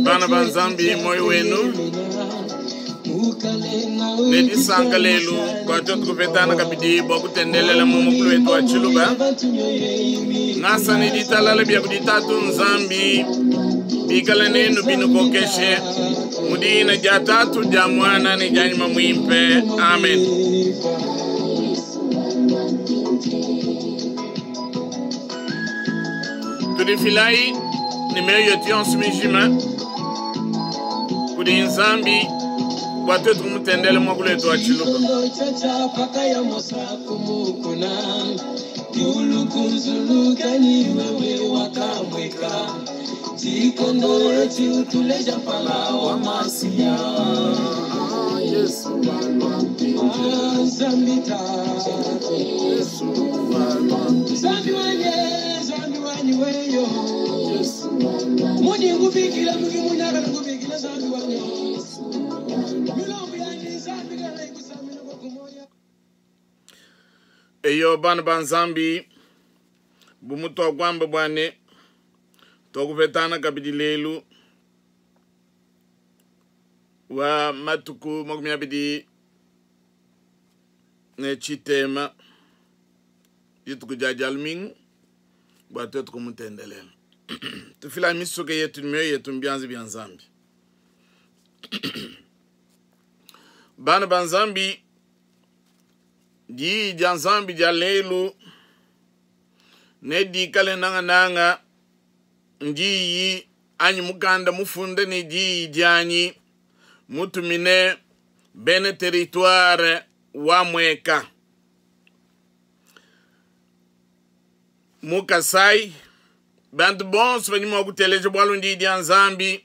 Bana ba Nzambi, muoyo wenu ne disanka lelu bua tuetu kupetana kabidi bua kutendelela mu mukulu wetu wa Tshiluba. Ngasa ne ditalala bia kudi Tatu Nzambi bikale nenu binukokeshe mu dina dia Tatu, dia Muana ne dia Nyuma Muimpe. Amen. Tudifilayi ne mioyo yetu yonso mijima kudi Nzambi bua tuetu kumutendela muakulu wetu wa Tshiluba. Eyo bana ba Nzambi, bu mutuakuamba bua ne tuakupetana kabidi lelu wa matuku 23 dituku dia Dia Lumingu bua tuetu kumutendelela. Tufila misuke yetu ne mioyo yetu mu bianza bia Nzambi. Bana ba Nzambi, diyi dia Nzambi dia lelu nedikale nangananga ndiyi anyi mukanda mufunda ne diyi dianyi mutumine bena teritware wa Mweka mu Kasai. Bantu bonso badi mua kuteleja bualu ndiyi dia Nzambi,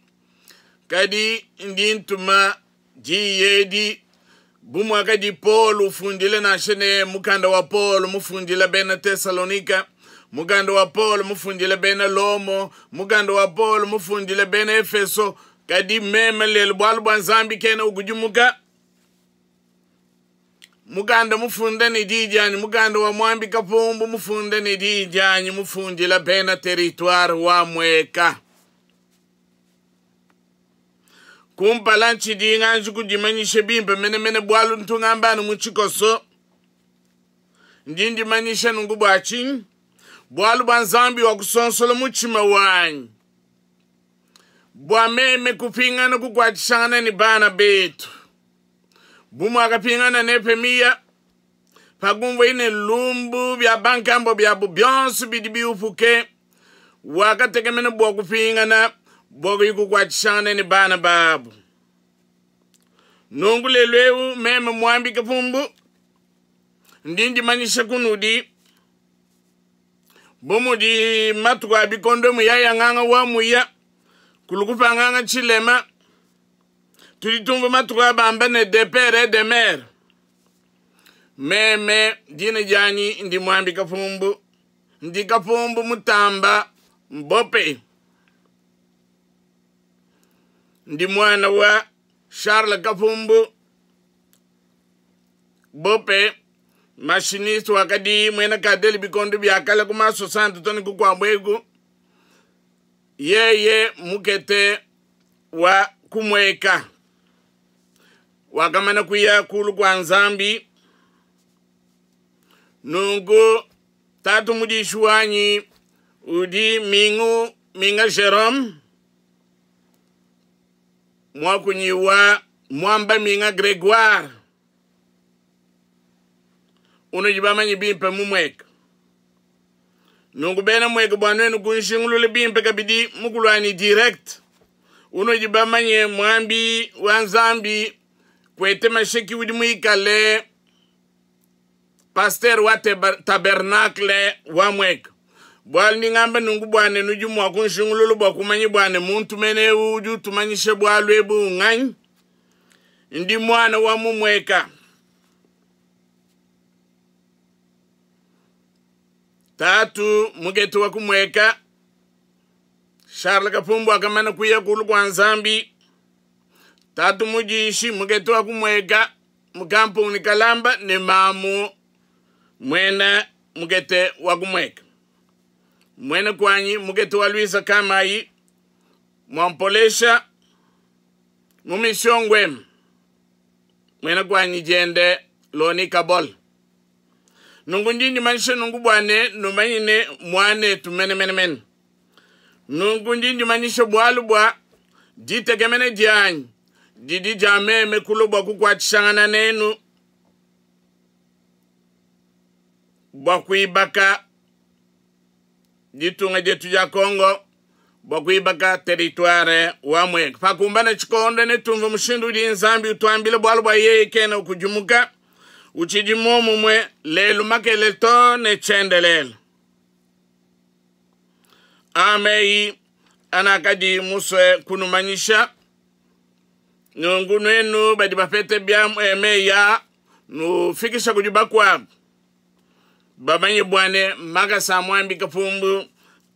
kadi ndi ntuma diyi edi bu muakadi Paulo ufundile nansha ne mukanda wa Paulo mufundile bena Tesalonika, mukanda wa Paulo mufundile bena Lomo, mukanda wa Paulo mufundile bena Efeso. Kadi meme lelu, bualu bua Nzambi kena ukudimuka, mukanda mufunda ne diyi dianyi, mukanda wa muambi Kapumbu mufunda ne diyi dianyi, mufundila bena teritware wa Mweka. Kumpala ntshidi nganji kudimanyisha bimpe menemene, bualu ntu ngamba anu mu tshikoso. Ndi ndimanyisha nunku bua tshinyi? Bualu bua Nzambi wakusonsola mutshima wanyi bua meme kupingana kukuatshishangana ne bana betu, bu muakapingana Nehemiya pakumvuaye ne lumbu bia bankambua biabu bionso bidi biupuke. Wakatekemena bua kupingana bua kuyi kukuatshishangana ne bana babu. Nunku lelu eu meme muambi Kapumbu ndi ndimanyisha kunudi bu mudi matuku a bikondo muyaya nganga wa muya kulu kupanganga tshilema. Tudi tumvua matuku a bamba ne de pere et de mere. Meme dina dianyi ndi muambi Kapumbu, ndi Kapumbu Mutamba Mbope, ndi muana wa Charles Kapumbu Bope, machiniste wakadi muena kadeli bikondo bia kale ku maso santu tone kukuabu eku, yeye mukete wa kumueka wakamana kuya kulu kua Nzambi. Nunku tatu mudishi wanyi udi Mingu Minga Jerome, muakunyi wa Muamba Minga Gregoire, unudi bamanyi bimpe mu Mweka. Nunku bena Mweka, bua nuenu kunjingulula bimpe kabidi mukuluanyi direct, unudi bamanye muambi wa Nzambi kwete masheki udi muikale pasteur wa tabernacle wa Mweka. Bualu ndi ngamba nunku bua ne nudi mua kunjingulula bua kumanya bua ne muntu mene eu udi utumanyisha bualu ebu nganyi. Ndi muana wa mu Mweka. Tatu mukete wa kumweka Charles Kapumbu akamana kuya kulu kua Nzambi. Tatu mudishi mukete wa kumweka mukampuni Kalamba ne mamu muena mukete wa kumweka. Muena kuanyi mukete wa Luisa Kamayi. Mwampolesha mu mission ngwem mwena kwanyi diende Loni Kabol. Nungu ndi ndimanyisha nungu bua ne numanyine muanetu menemenemene. Nungu ndi ndimanyisha bualu bua ditekemena dianyi didi dia meme kulua bua kukuatshishangana nenu bua kuibaka ditunga dietu dia Congo, bua kuibaka territoire wa Mwenga. Pakumbana tshikondo netumvue mushindu udi Nzambi utuambila bualu bua yeye kena ukudimuka, utshidi muomumue lelu makele to ne tshiendelele. Ameyi anakadi musue kunumanyisha. Nunku nuenu badi bapete bia meyi aa, nufikisha kudi bakuabu bamanye bua ne makasa a muambi Kapumbu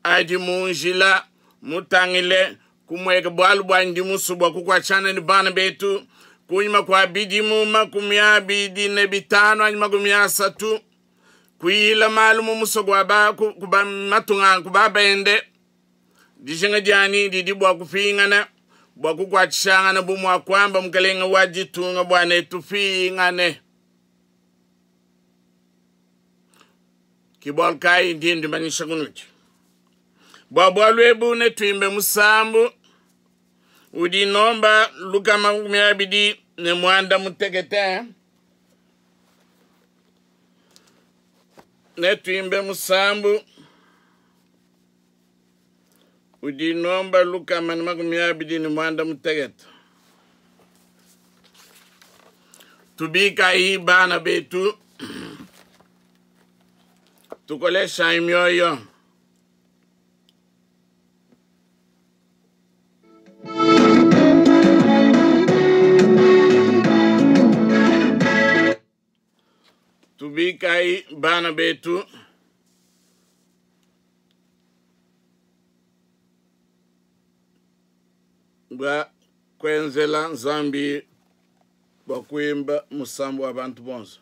adi mu njila mutangile kumueka, bualu bua ndi musue bua kukuatshana ne bana betu kunyima kua bidimu 25 anyi 30 kuyila malu mu musoko wa ba, ku, ku ba matunga ku ba bende. Dijinga dianyi didi bua kupingana bua kukuatshishangana bu mua kuamba mukelenge wa ditunga bua ne tupingane. Ke bualu kayi ndi ndimanyisha kunudi bua bualu ebu. Netuimbe musambu udi nomba 286. Netuimbe musambu udi nomba 126. Tubikayi bana betu, tukoleshayi mioyo. Tubikayi bana betu, bua kuenzela Nzambi bua kuimba musambu wa bantu bonso.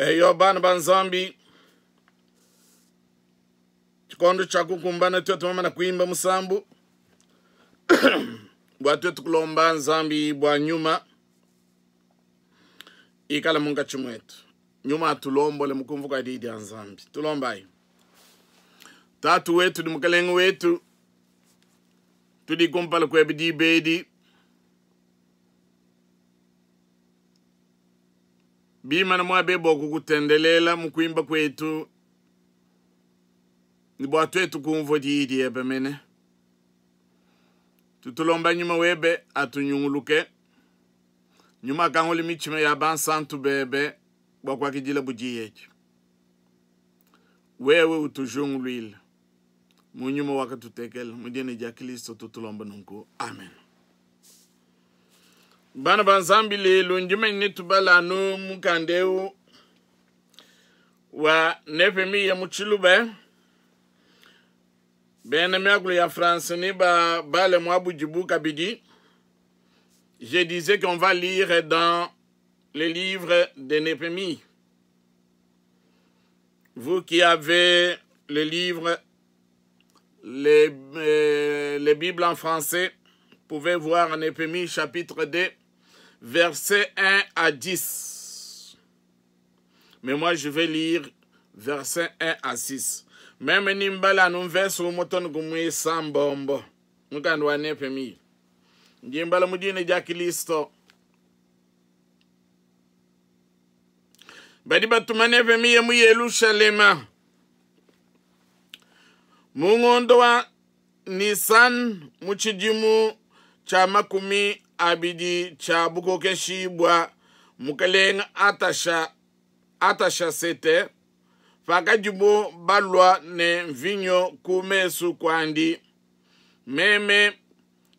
Eyo bana ba Nzambi, tshikondo tshia kukumbana tuetu mamana kuimba musambu bua tuetu kulomba Nzambi bua nyuma ikala munkatshi muetu. Nyuma atulombole mu kumvu kua diyi dia Nzambi. Tulombayi. Tatu wetu ne Mukalenge wetu, tudi kumpala kuebe diba edi bimana muaba ebu bua kukutendelela mu kuimba kuetu ne bua tuetu kumvua diyi diebe mene. Tutulomba nyuma webe atunyunguluke, nyuma akangule mitshima ya bansantu bebe bua kuakidila bu diyi edi. Wewe utujunguluile mu nyuma wakatutekela mu dina dia Kristo tutulomba nunku, amen. Bana ba Nzambi, lelu ndi manyine tubala anu mukanda eu wa Nehemiya mu Tshiluba. Bena miakulu ya France ne ba bale muabudibu kabidi. Je disais qu'on va lire dans le livre de Néhémie. Vous qui avez le livre, les Bibles en français, pouvez voir Néhémie chapitre 2, versets 1 à 10. Mais moi, je vais lire versets 1 à 6. Meme nimbala anu mvese umue too ne ku muisambombo mukanda wa Nehemiya. Ndi mbala mu dina dia Kristo. Badi batuma Nehemiya mu Yelushalema mu ngondo wa Nisan mu tshidimu tshia 20 tshia bukokeshi bua mukalenge Atasha, Atashasete, pakadibo balua ne mvinyo ku mesu kuandi, meme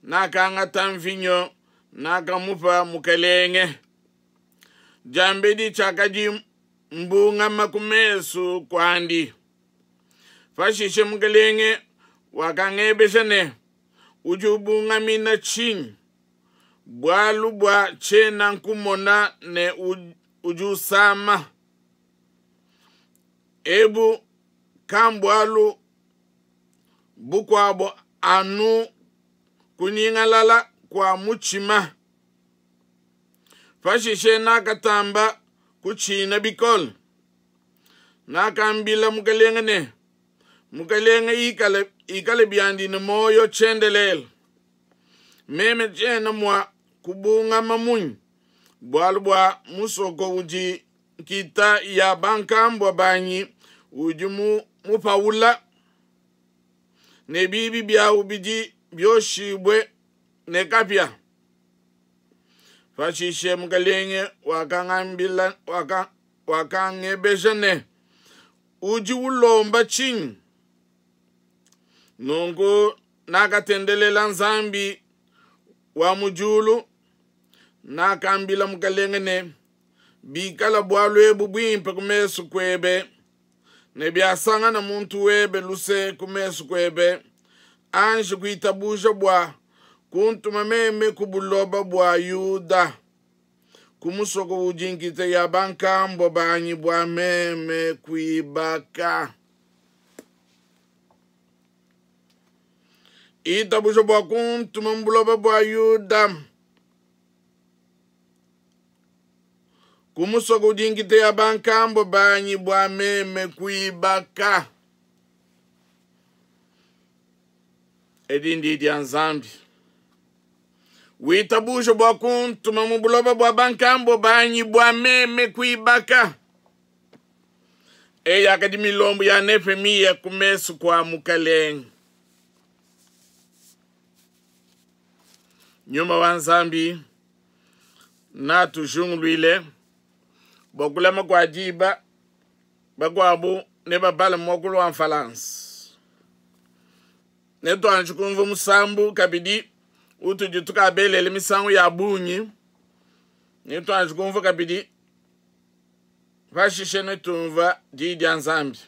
nakangata mvinyo, nakamupa mukelenge. Diambedi tshiakadi mbungama ku mesu kuandi. Pashishe mukelenge wakangebeja ne, Udi ubungamina tshinyi? Bualu bua tshiena nkumona ne udi usama. Ebu kambualu bukuabo anu kunyingalala kua mutshima. Pashishe nakatamba kutshina bikole. Nakambila mukelenge ne, Mukelenge ikale biandi ne muoyo tshiendelele. Meme tshiena mua kubungama munyi, bualu bua musoko udi nkita ya bankambua banyi udi mupaula, ne bibi biawu bidi bioshibue ne kapia. Pashishe mukelenge wakangebeja ne, Udi ulomba tshinyi? Nunku nakatendelela Nzambi wa mu diulu, nakambila mukelenge ne, Bikala bualu ebu buimpe ku mesu kuebe, ne biasangana muntu webe luse ku mesu kuebe, anji kuitabuja bua kuntuma meme ku buloba bua Yuda, ku musoko udi nkita ya bankambua banyi bua meme kuibaka. Itabuja bua kuntuma mu buloba bua Yuda, ku musoko udi nkita ya bankambua banyi bua meme kuibaka. Edi ndi dia Nzambi. Witabuje bua kuntuma mu buloba bua bankambua banyi bua meme kuibaka. Eyi yakadi milombu ya Nehemiya ku mesu kua mukalenge. Nyuma wa Nzambi natujunguluile bua kulama kua diba, bakuabu nebabale muakulu wa Mfalansa. Netuanji kumvua musambu kabidi utudi tukabelele misangu ya bungi. Netuanji kumvua kabidi, pashishe netumvua diyi dia Nzambi.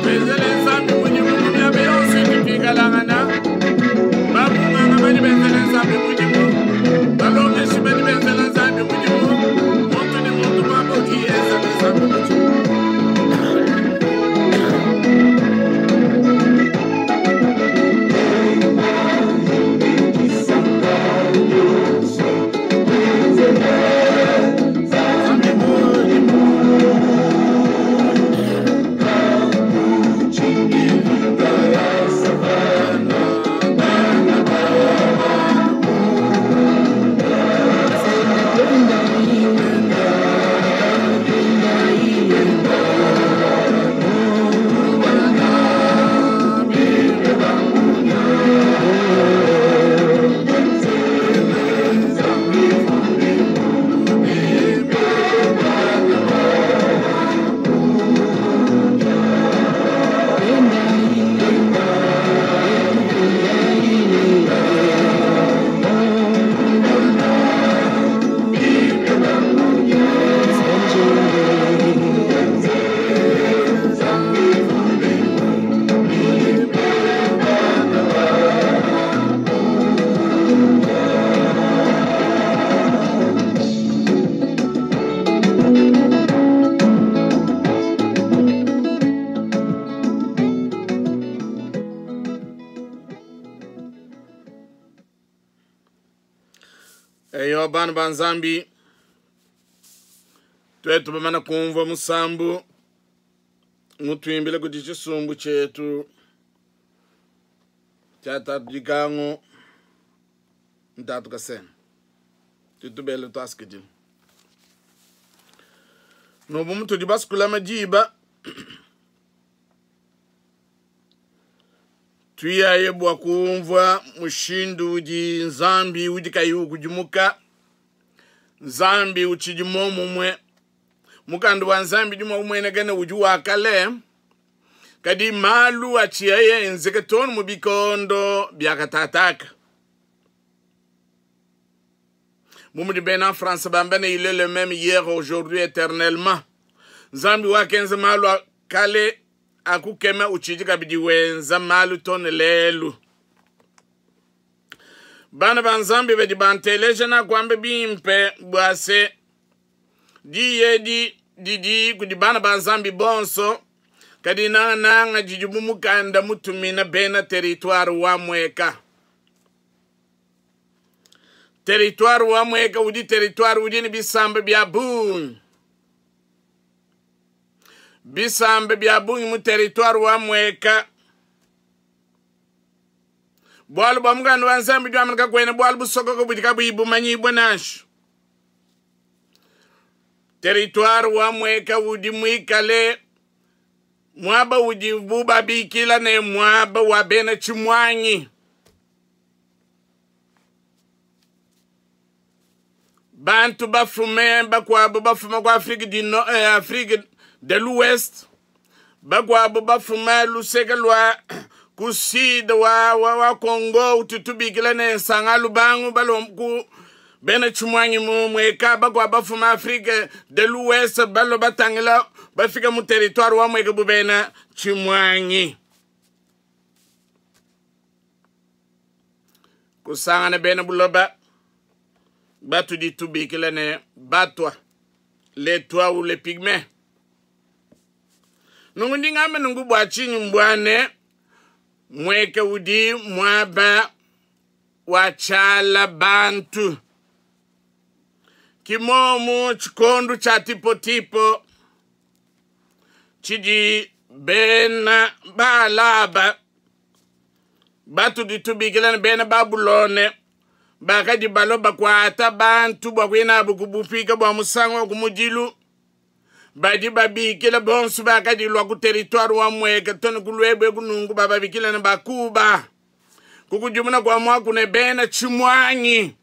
Benzele Nzambi mudimu mu miaba yonso idi tuikalangana. Bamunganga badi benzela Nzambi mudimu, balongeshi badi benzela Nzambi mudimu, muntu ne muntu muaba udi enzela Nzambi mudimu. Nzambi mudimu. Eyo bana ba Nzambi, tuetu bamana kumvua musambu mutuimbile kudi tshisumbu tshietu tshia Tatu Dikangu Ntatu Kasena, tutubele tuasikidila nobu mutudi basukulama diba tuyaye bua kumvua mushindu udi Nzambi udi kayi ukudimuka, Nzambi utshidi muomumue. Mukanda wa Nzambi udi mua kumueneka ne udi wa kale, kadi malu atshiaye enzeke too ne mu bikondo bia katataka. Bu mudi bena France bamba ne, il est le même hier, aujourd'hui, éternellement. Nzambi wakenza malu a kale akukema utshidi kabidi wenza malu too ne lelu. Bana ba Nzambi badi banteleja nakuamba bimpe bua se diyi edi didi kudi bana ba Nzambi bonso, kadi nangananga didi mu mukanda mutumina bena teritware wa Mweka. Teritware wa Mweka udi teritware udi ne bisamba bia bungi. Bisamba bia bungi mu teritware wa Mweka. Bualu bua mukanda wa Nzambi udi wamba ne, kakuena bualu busokoka budi kabuyi bumanyibue nansha. Teritware wa Mweka udi muikale muaba udibu babikila ne muaba wa bena tshimuangi. Bantu bafume bakuabu bafuma ku Afrique du Nord, Afrique de l'Ouest, bakuabu bafuma luseke lua ku sud wa, wa, wa Congo ututubikila ne Sanga Lubangu balomba ku bena tshimuangi mu Mweka, bakuabu bafuma Afrique de l'Ouest balua batangila bafika mu territoire wa Mweka bu bena tshimuangi. Kusangana bena buloba batudi tubikila ne batwa, les toits ou les pygmées. Nunku ndi ngamba nunku bua tshinyi? Mbua ne Mweka udi muaba wa tshiala bantu. Ki momu tshikondu tshia tipotipo tshidi bena Baalaba batudi tubikila ne bena Babulone bakadi balua bakuata bantu bua kuya nabu ku bupika bua musangu wa kumudilu. Badi babikila bonso bakadi lua ku teritware wa Mweka to ne ku Luebue ku nunku bababikila ne Bakuba. Kukudimuna kua muaku ne bena tshimuangi.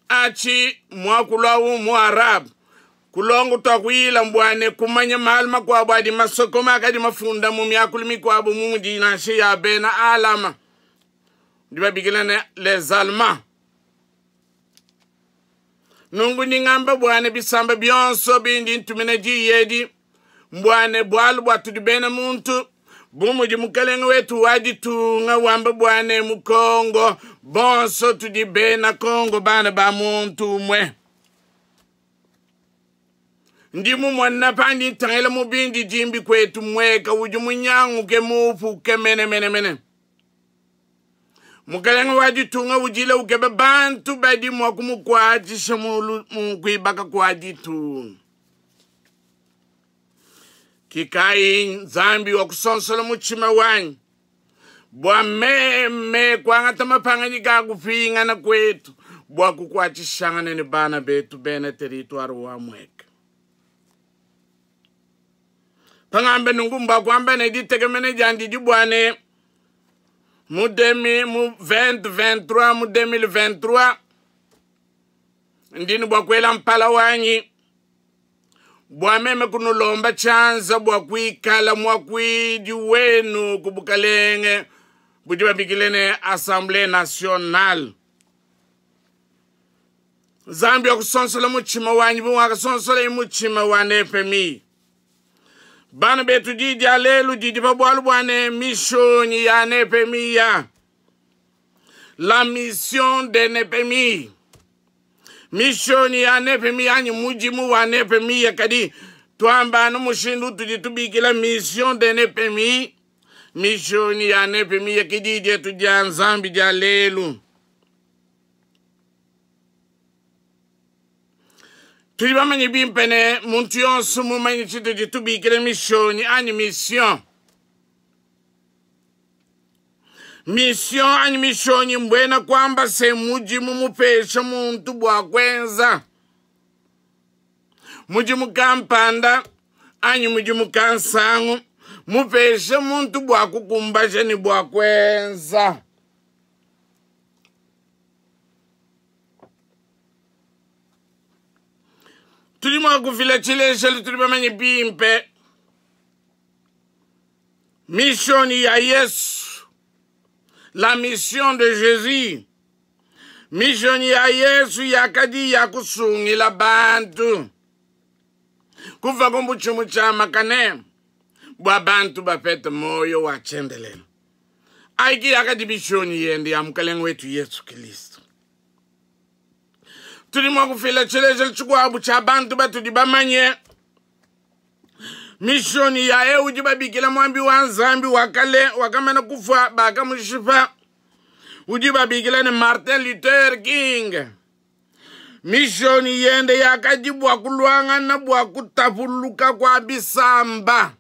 Atshi muakulu au mu arabe. Kulonga tuakuyila mbuane kumanya malu makuabu adi masokome akadi mafunda mu miakulu mikuabu mu mudi nansha ya bena alama ndi babikila ne les allemands. Nunku ndi ngamba buane bisamba bionso bindi ntumina diyi edi mbuane bualu bua tudi bena muntu bu mudi mukalenge wetu wa ditunga wamba buane mu Kongo bonso tudi bena Kongo bana ba muntu umue. Ndi mumona pandi ntangila mu bindidimbi kwetu mweka udi munyanguke muupuke menemenemene. Mukalenge wa ditunga udile ukeba bantu badi mua kumukuatshisha mu kuibaka kua ditunga. Kikayi Nzambi wa kusonsola mutshima wanyi bua meme kuangata mapangadika a kupingana kwetu bua kukuatshishangana ne bana betu bena teritware wa Mweka. Pangambe nunku mbua kuamba ne ditekemena diandi dibua ne mu 2023 mu 2023 ndi ne bua kuela mpala wanyi bua meme kunulomba tshianza bua kuikala muakuidi wenu ku bukalenge budi babikile ne Assemblée nationale. Nzambi wakusonsola mutshima wanyi bu wakasonsola mutshima wa Nehemiya. Bana betu, di dia lelu didi pa bualu bua ne mishonyi ya Nehemiya, la mission de Nehemiya. Mishonyi ya Nehemiya anyi mudimu wa Nehemiya, kadi tuamba anu mushindu utudi tubikila mission de Nehemiya, mishonyi ya Nehemiya ke di dietu dia Nzambi dia lelu. Tudi bamanye bimpe ne muntu yonso mumanye tshitudi tubikila mishonyi anyi mission. Mission anyi mishonyi mbuena kuamba se mudimu mupesha muntu bua kuenza mudimu kampanda anyi mudimu kansangu mupesha muntu bua kukumbaja ne bua kuenza. Tudi mua kufila tshilejelu, tudi bamanye bimpe mission ya Yesu, la mission de Jésus. Mission ya Yesu yakadi ya kusungila bantu kuva ku mbutshimu tshia makane bua bantu bapete moyo wa tshiendelele. Aiki yakadi mission yende ya mukalenge wetu Yesu Kristo. Tudi mua kufila tshilejelu tshikuabu tshia bantu batudi bamanye. Mishoni ya eu udi babikila muambi wa Nzambi wa kale wakamana kufua bakamushipa, udi babikila ne Martin Luther King. Mishoni yende yakadi bua kuluangana bua kutapuluka kua bisamba,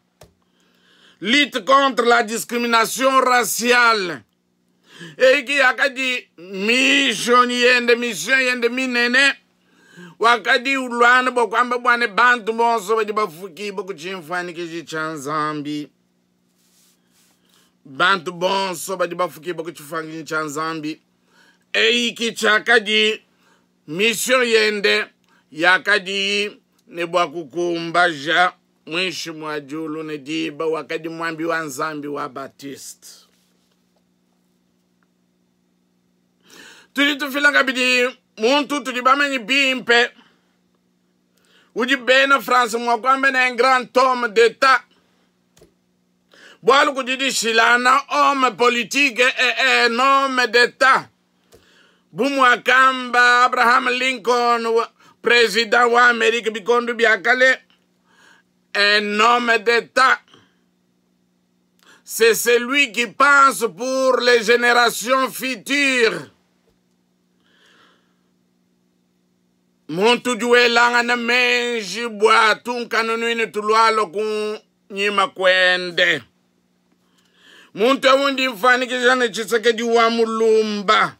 lutte contre la discrimination raciale. Eiki yakadi mishoni yende, mission yende minene. Wakadi ulwana bua kuamba bua ne bantu bonso badi bafukibua ku tshimfuanyikiji tshia Nzambi. Bantu bonso badi bafukibua ku tshifuanyikiji tshia Nzambi. Eiki tshiakadi mission yende yakadi ne bua kukumbaja muinshi mua diulu ne diba. Wakadi muambi wa Nzambi wa Baptiste. Tudi tufila kabidi muntu tudi bamanye bimpe udi bena France mua kuamba ne un grand homme d'État, bualu kudi dishilana homme politique et un homme d'État. Bu muakamba Abraham Lincoln, président wa Amerique bikondo bia kale, un homme d'État c'est celui qui pense pour les générations futures. Muntu udi welangana meji bua tunkanunuina tulualua ku nyima kuende. Muntu eu ndi mfuanyikija ne Tshisekedi wa Mulumba.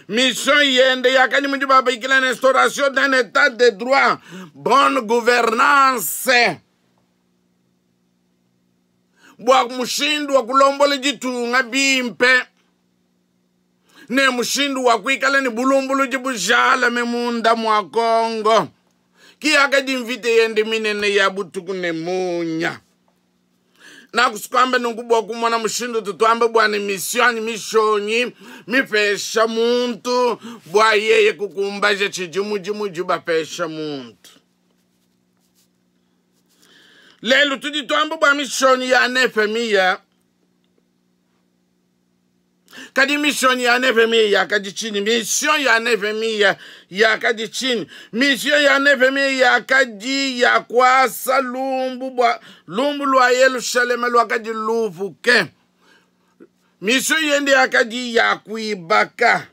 Mission yende yakadi mudi babikila ne instauration d'un état de droit, bonne gouvernance. bua mushindu wa kulombola ditunga bimpe ne mushindu wa kuikala ne bulumbuludi bujalame munda mua Kongo. Ki yakadi mvita yende minene ya butuku ne munya. Nakusukuamba nunku bua kumona mushindu tutuamba bua ne mission anyi mishonyi mipesha muntu bua yeye kukumbaja tshidi mudimu udi bapesha muntu. Lelu tudi tuamba bua mishonyi ya Nehemiya. Kadi mission ya Nehemiya yakadi tshinyi? Mission ya Nehemiya yakadi tshinyi? Mission ya Nehemiya yakadi ya kuasa lumbu bua lumbu lua Yelushalema luakadi lupuke. Mission yende yakadi ya kuibaka.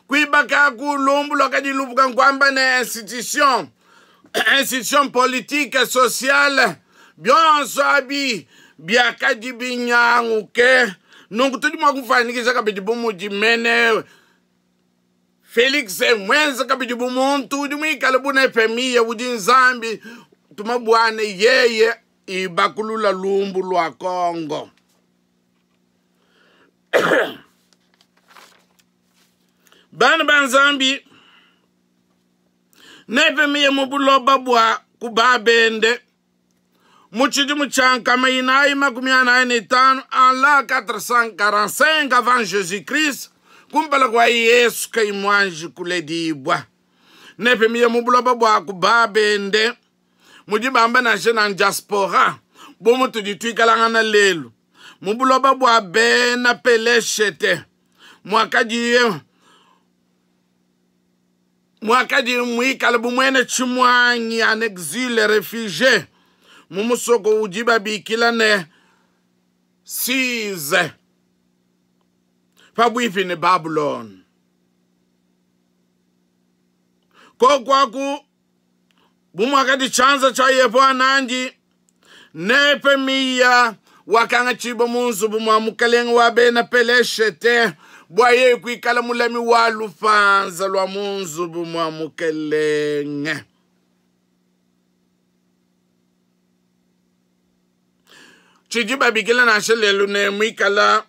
Kuibaka ku lumbu luakadi lupuka nkuamba ne institution, institution politique, sociale, bionso abi biakadi binyanguke. Nunku tudi mua kufuanyikija kabidi bu mudi mene Felix muenze kabidi bu muntu udi muikale bu Nehemiya udi Nzambi tuma buane yeye ibakulula lumbu lua Kongo. Bana ba Nzambi, Nehemiya mu buloba bua ku babende mu tshidimu tshia 445 en l'an 445 avant Jésus-Christ, kumpala kua Yesu kayi muanji kuledibua. Nehemiya mu buloba bua ku babende mudi bamba nansha na diaspora bu mutudi tuikalangana lelu mu buloba bua bena Peleshete muakadiye muakadi muikale bu muena tshimuangi en exil réfugié mu musoko udi babikila ne Size pabuipi ne Babulone. Kokuaku bu muakadi tshianza tshia Yehowa nandi, Nehemiya wakangatshibua mu nzubu mua mukalenge wa bena Peleshete bua yeye kuikala mulami wa lupanza lua mu nzubu mua mukelenge. Tshidi babikila nansha lelu ne muikala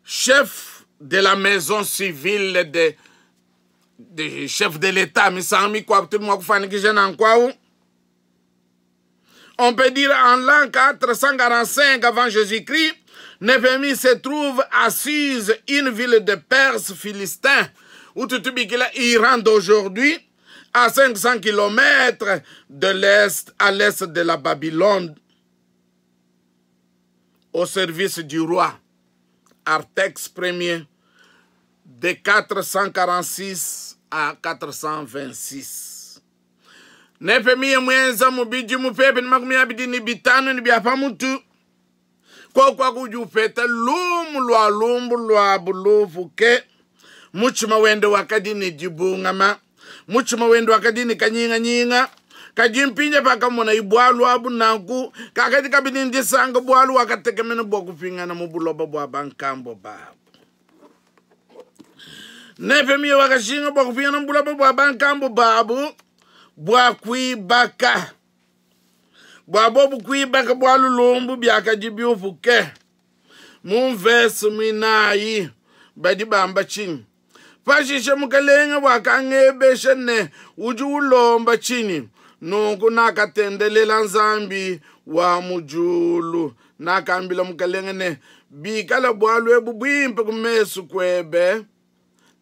chef de la maison civile de, de chef de l'État misangu mikuabu tudi mua kufuanyikija nanku au. On peut dire en l'an 445 avant Jésus-Christ, Néhémie se trouve à Suse, une ville de Perse philistin, où tutubikila Iran d'aujourd'hui, à 500 km de l'est, à l'est de la Babylone, au service du roi Artaxerxès Ier de 446 à 426. Nehemiya muenza mu bidimu pepe ne 25 ne bia pamutu kokuaku udi upeta lumu lua lumbu lua bulupuke. Mutshima wende wakadi ne dibungama, mutshima wende wakadi ne kanyinganyinga. Kadi mpindia pakamona bualu abu nanku kakadi kabidi ndisanga bualu wakatekemena bua kupingana mu buloba bua bankambo babu. Nehemiya wakashinga bua kupingana mu buloba bua bankambo babu bua kuibaka bua bobu kuibaka bualu lumbu biakadi biupuke. Mu mvese muinayi badi bamba tshinyi? Pashishe mukelenge wakangebesha ne udi ulomba tshinyi? Nunku nakatendelela Nzambi wa mu diulu. Nakambila mukelenge ne bikala bualu ebu buimpe ku mesu kuebe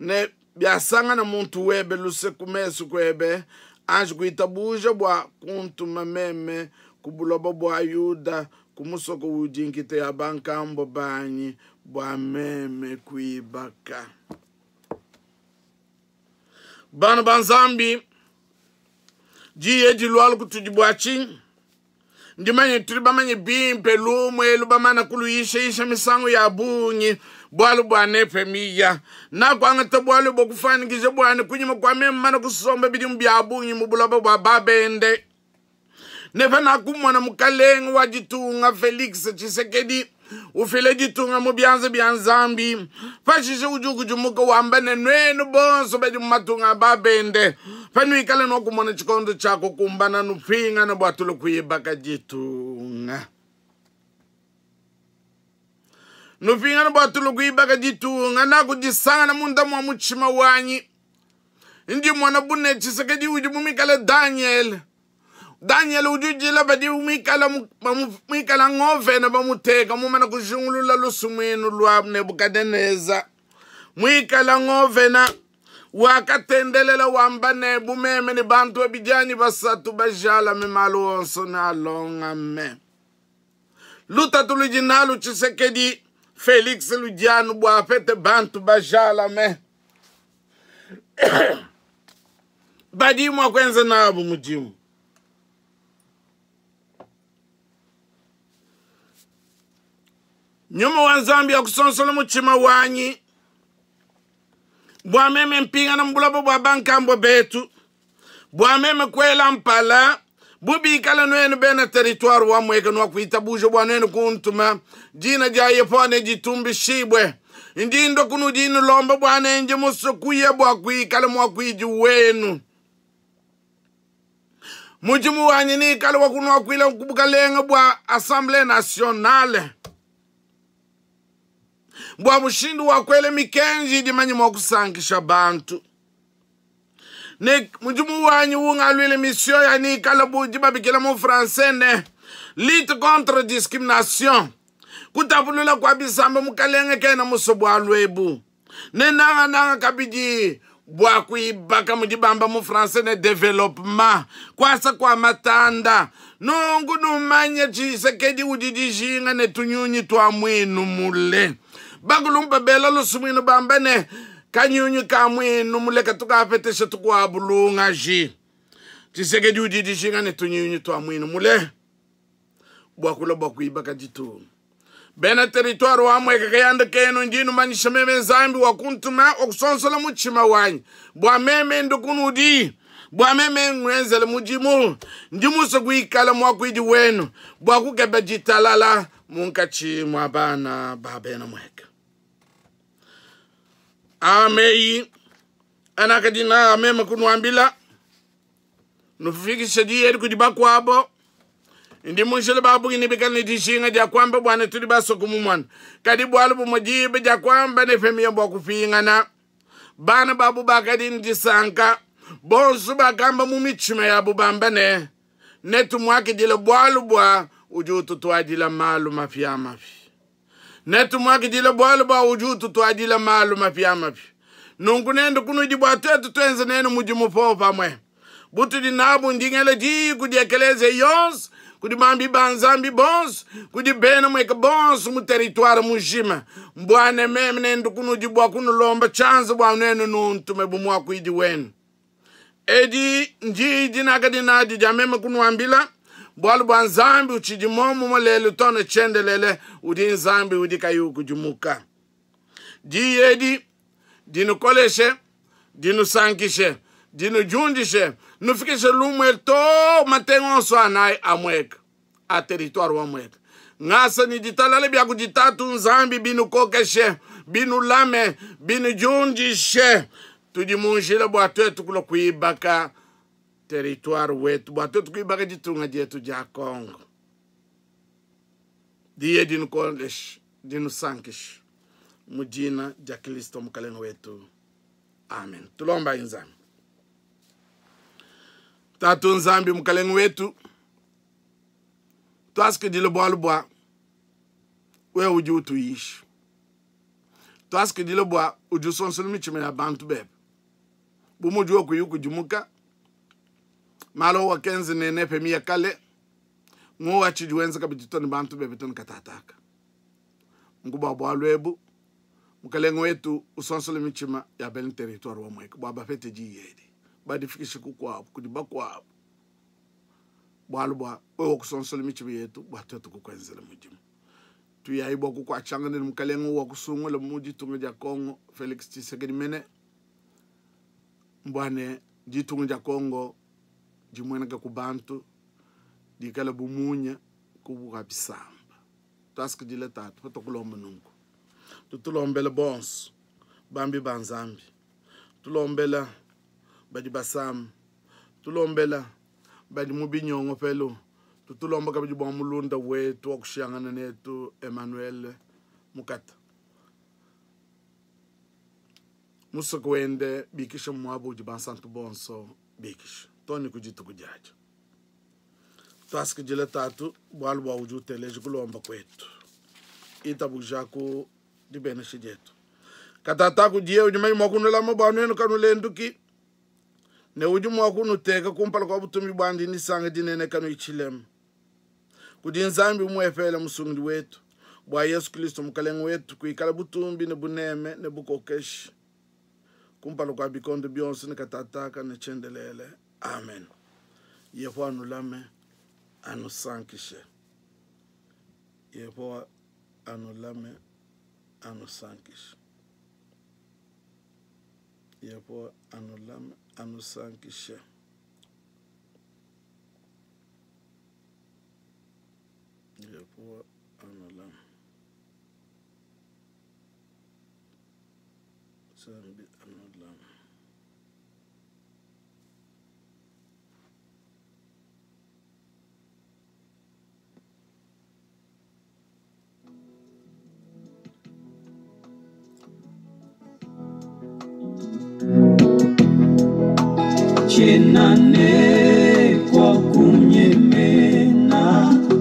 ne biasangana muntu webe luse ku mesu kuebe, anji kuitabuja bua kuntuma meme ku buloba bua Yuda ku musoko udi nkita ya bankambo banyi bua meme kuibaka. Bana ba Nzambi, diyi dilualu kutudi bua tshinyi? Ndimanye tudi bamanye bimpe lumu elu bamana kuluyishaisha misangu ya bungi bualu bua Nehemiya. Nakuangata bualu bua kufuanyikija buane kunyima kua meme mana kusomba bidimu bia bungi mu buloba bua babende. Ne panakumona mukalenge wa ditunga Felix Tshisekedi ufila ditunga mu bianza bia Nzambi, pashishe udi ukudimuka wamba ne, Nuenu bonso badi mu matunga a babende, panuikala nuakumona tshikondo tshia kukumbana, nupingane bua tulu kuibaka ditunga. Nupingane bua tulu kuibaka ditunga, nakudisangana munda mua mutshima wanyi. Ndi mmona bu ne Tshisekedi udi mumikale Danyele. Danyele udi udila badi muikala muikala ngovena bamuteka mumana kujingulula lusumuinu lua Nebukadenesa. Muikala ngovena wakatendelela wamba ne, bu meme ne bantu babidi anyi basatu bajalame, malu onso nealongame. Lutatu ludi nalu Tshisekedi Felix ludi anu bua apete bantu bajalame badi mua kuenza nabu mudimu. Nyuma wa Nzambi akusonsola mutshima wanyi bua meme mpingana mu buloba bua bankambua betu, bua meme kuela mpala bu bikala nuenu bena teritware wa Mweka nuakuitabuja bua nuenu kuntuma. Dina dia Yehowa neditumbishibue. Ndi ndua kunudi nulomba bua ne ndi musue kuya bua kuikala muakuidi wenu. Mudimu wanyi neikale wa kunuakuila ku bukalenge bua Assemblee nationale bua mushindu wa kuela mikenji idi manye mua kusankisha bantu. Ne mudimu wanyi ungaluile mission ya nikala bu dibabikila mu français ne lutte contre discrimination, kutapulula kua bisamba. Mukalenge kena musue bualu ebu, ne nangananga kabidi bua kuibaka mudi bamba mu français ne developement, kuasa kua matanda. Nunku numanye Tshisekedi udi dijinga ne tunyunyi tua muinu mule. Bakulumpa bela lusumuinu bamba ne kanyunyi ka muinu mule katu kapetesha tukuabu lungaji. Tshisekedi udi dijinga ne tunyunyi tua muinu mule bua kulua bua kuibaka ditunga. Bena teritware wa Mweka kayanda kenu, ndi numanyisha meme Nzambi wa kuntuma wa kusonsola mutshima wanyi bua meme ndu kunudi, bua meme ngenzele mudimu. Ndi musue kuikala muakuidi wenu bua kukeba ditalala munkatshi mua bana ba bena Mweka. Aa meyi anakadi naa meme kunuambila, nufikishe diyi edi kudi bakuabo. Ndi mu njila ba bungi nebikale ne dijinga dia kuamba bua ne tudi basue kumumona, kadi bualu bumue diba dia kuamba Nehemiya bua kupingana. Bana babu bakadi ne disanka, bonso bakamba mu mitshima yabu bamba ne, Netumuakidile bualu bua udi ututuadila malu mapiamapia. Netumuakidile bualu bua udi ututuadila malu mapiamapia. Nunku nende kunudi bua tuetu tuenze nenu mudimu popamue. Butudi nabu ndi ngela diyi kudi ekeleziya yonso, kudi bambi ba Nzambi bonso, kudi bena mueka bonso mu teritware mujima, mbua ne meme nende kunudi bua kunulomba tshianza bua nuenu nuntume bu muakuidi wenu. Edi ndiyi dinakadi nadi dia meme kunuambila, bualu bua Nzambi utshidi muomumue lelu too ne tshiendelele, udi Nzambi udi kayi ukudimuka. Diyi edi dinukoleshe, dinusankishe, dinudiundishe, nufikishe lumue too matenga onso anayi a Mweka, a teritware wa Mweka. Ngasa ne ditalala bia kudi Tatu Nzambi binukokeshe, binulame, binudiundishe. Tudi mu njila bua tuetu kulua kuibaka teritware wetu, bua tuetu kuibaka ditunga dietu dia Congo. Diye dinukoleshe, dinusankishe mu dina dia Kristo Mukalenge wetu. Amen. Tulombayi Nzambi. Tatu Nzambi Mukalenge wetu, tuasakidile bualu bua wewe udi utuyisha. Tuasakidile bua udi usonsola mitshima ya bantu bebe. Bu mudi wewe kuyi ukudimuka, malu awakenza ne Nehemiya kale, ngowa tshidi wenza kabidi to ne bantu bebe to ne katataka. Nku bua bualu ebu, Mukalenge wetu usonsola mitshima ya bena teritware wa Mweka bua bapete diyi edi, badifikishe kukuabu kudi bakuabu, bualu bua wewe wakusonsola mitshima yetu bua tuetu kukuenzela mudimu. Tuyayi bua kukuatshangana ne Mukalenge wa kusungula mu ditunga dia Congo, Felix Tshisekedi mene, mbua ne ditunga dia Congo dimueneka ku bantu. Dikale bu munya ku bukua bisamba. Tuasakidila Tatu patuakulomba nunku. Tutulombele bonso bambi ba Nzambi, tulombela badi basama, tulombela badi mu binyongopelu, tutulomba kabidi bua mulunda wetu wa kushiyangana netu Emmanuel Mukata. Musoko wende bikisha mu muaba udi bansantu bonso bikisha too ne ku dituku diadia. Tuasakidila Tatu bualu bua udi uteleja kulomba kuetu. Itabujaku dibenesha dietu. Katata kudiye udi manyi mua kunulama bua nuenu kanulenduki, ne udi mua kunuteka kumpala kua butumbi buandi nisanga dinene kanuyi tshilema. Kudi Nzambi umuepele Musungidi wetu, bua Yesu Kristo Mukalenge wetu, kuikala butumbi ne buneme ne bukokeshi kumpala kua bikondo bionso ne katataka ne tshiendelele. Amen. Yehowa anulame, anusankishe. Yehowa anulame, anusankishe. Yehowa anulame, anusankishe. Yehowa anulame. Nzambi anulame. Tshiena ne kua kunyemena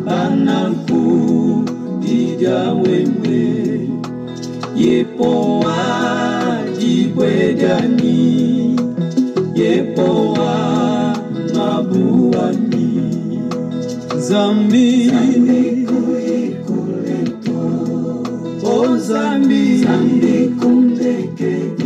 pananku di dia wewe Yepowa dibue dianyi Yepowa ngabu wanyi Nzambi O Nzambi Nzambi kundekedi.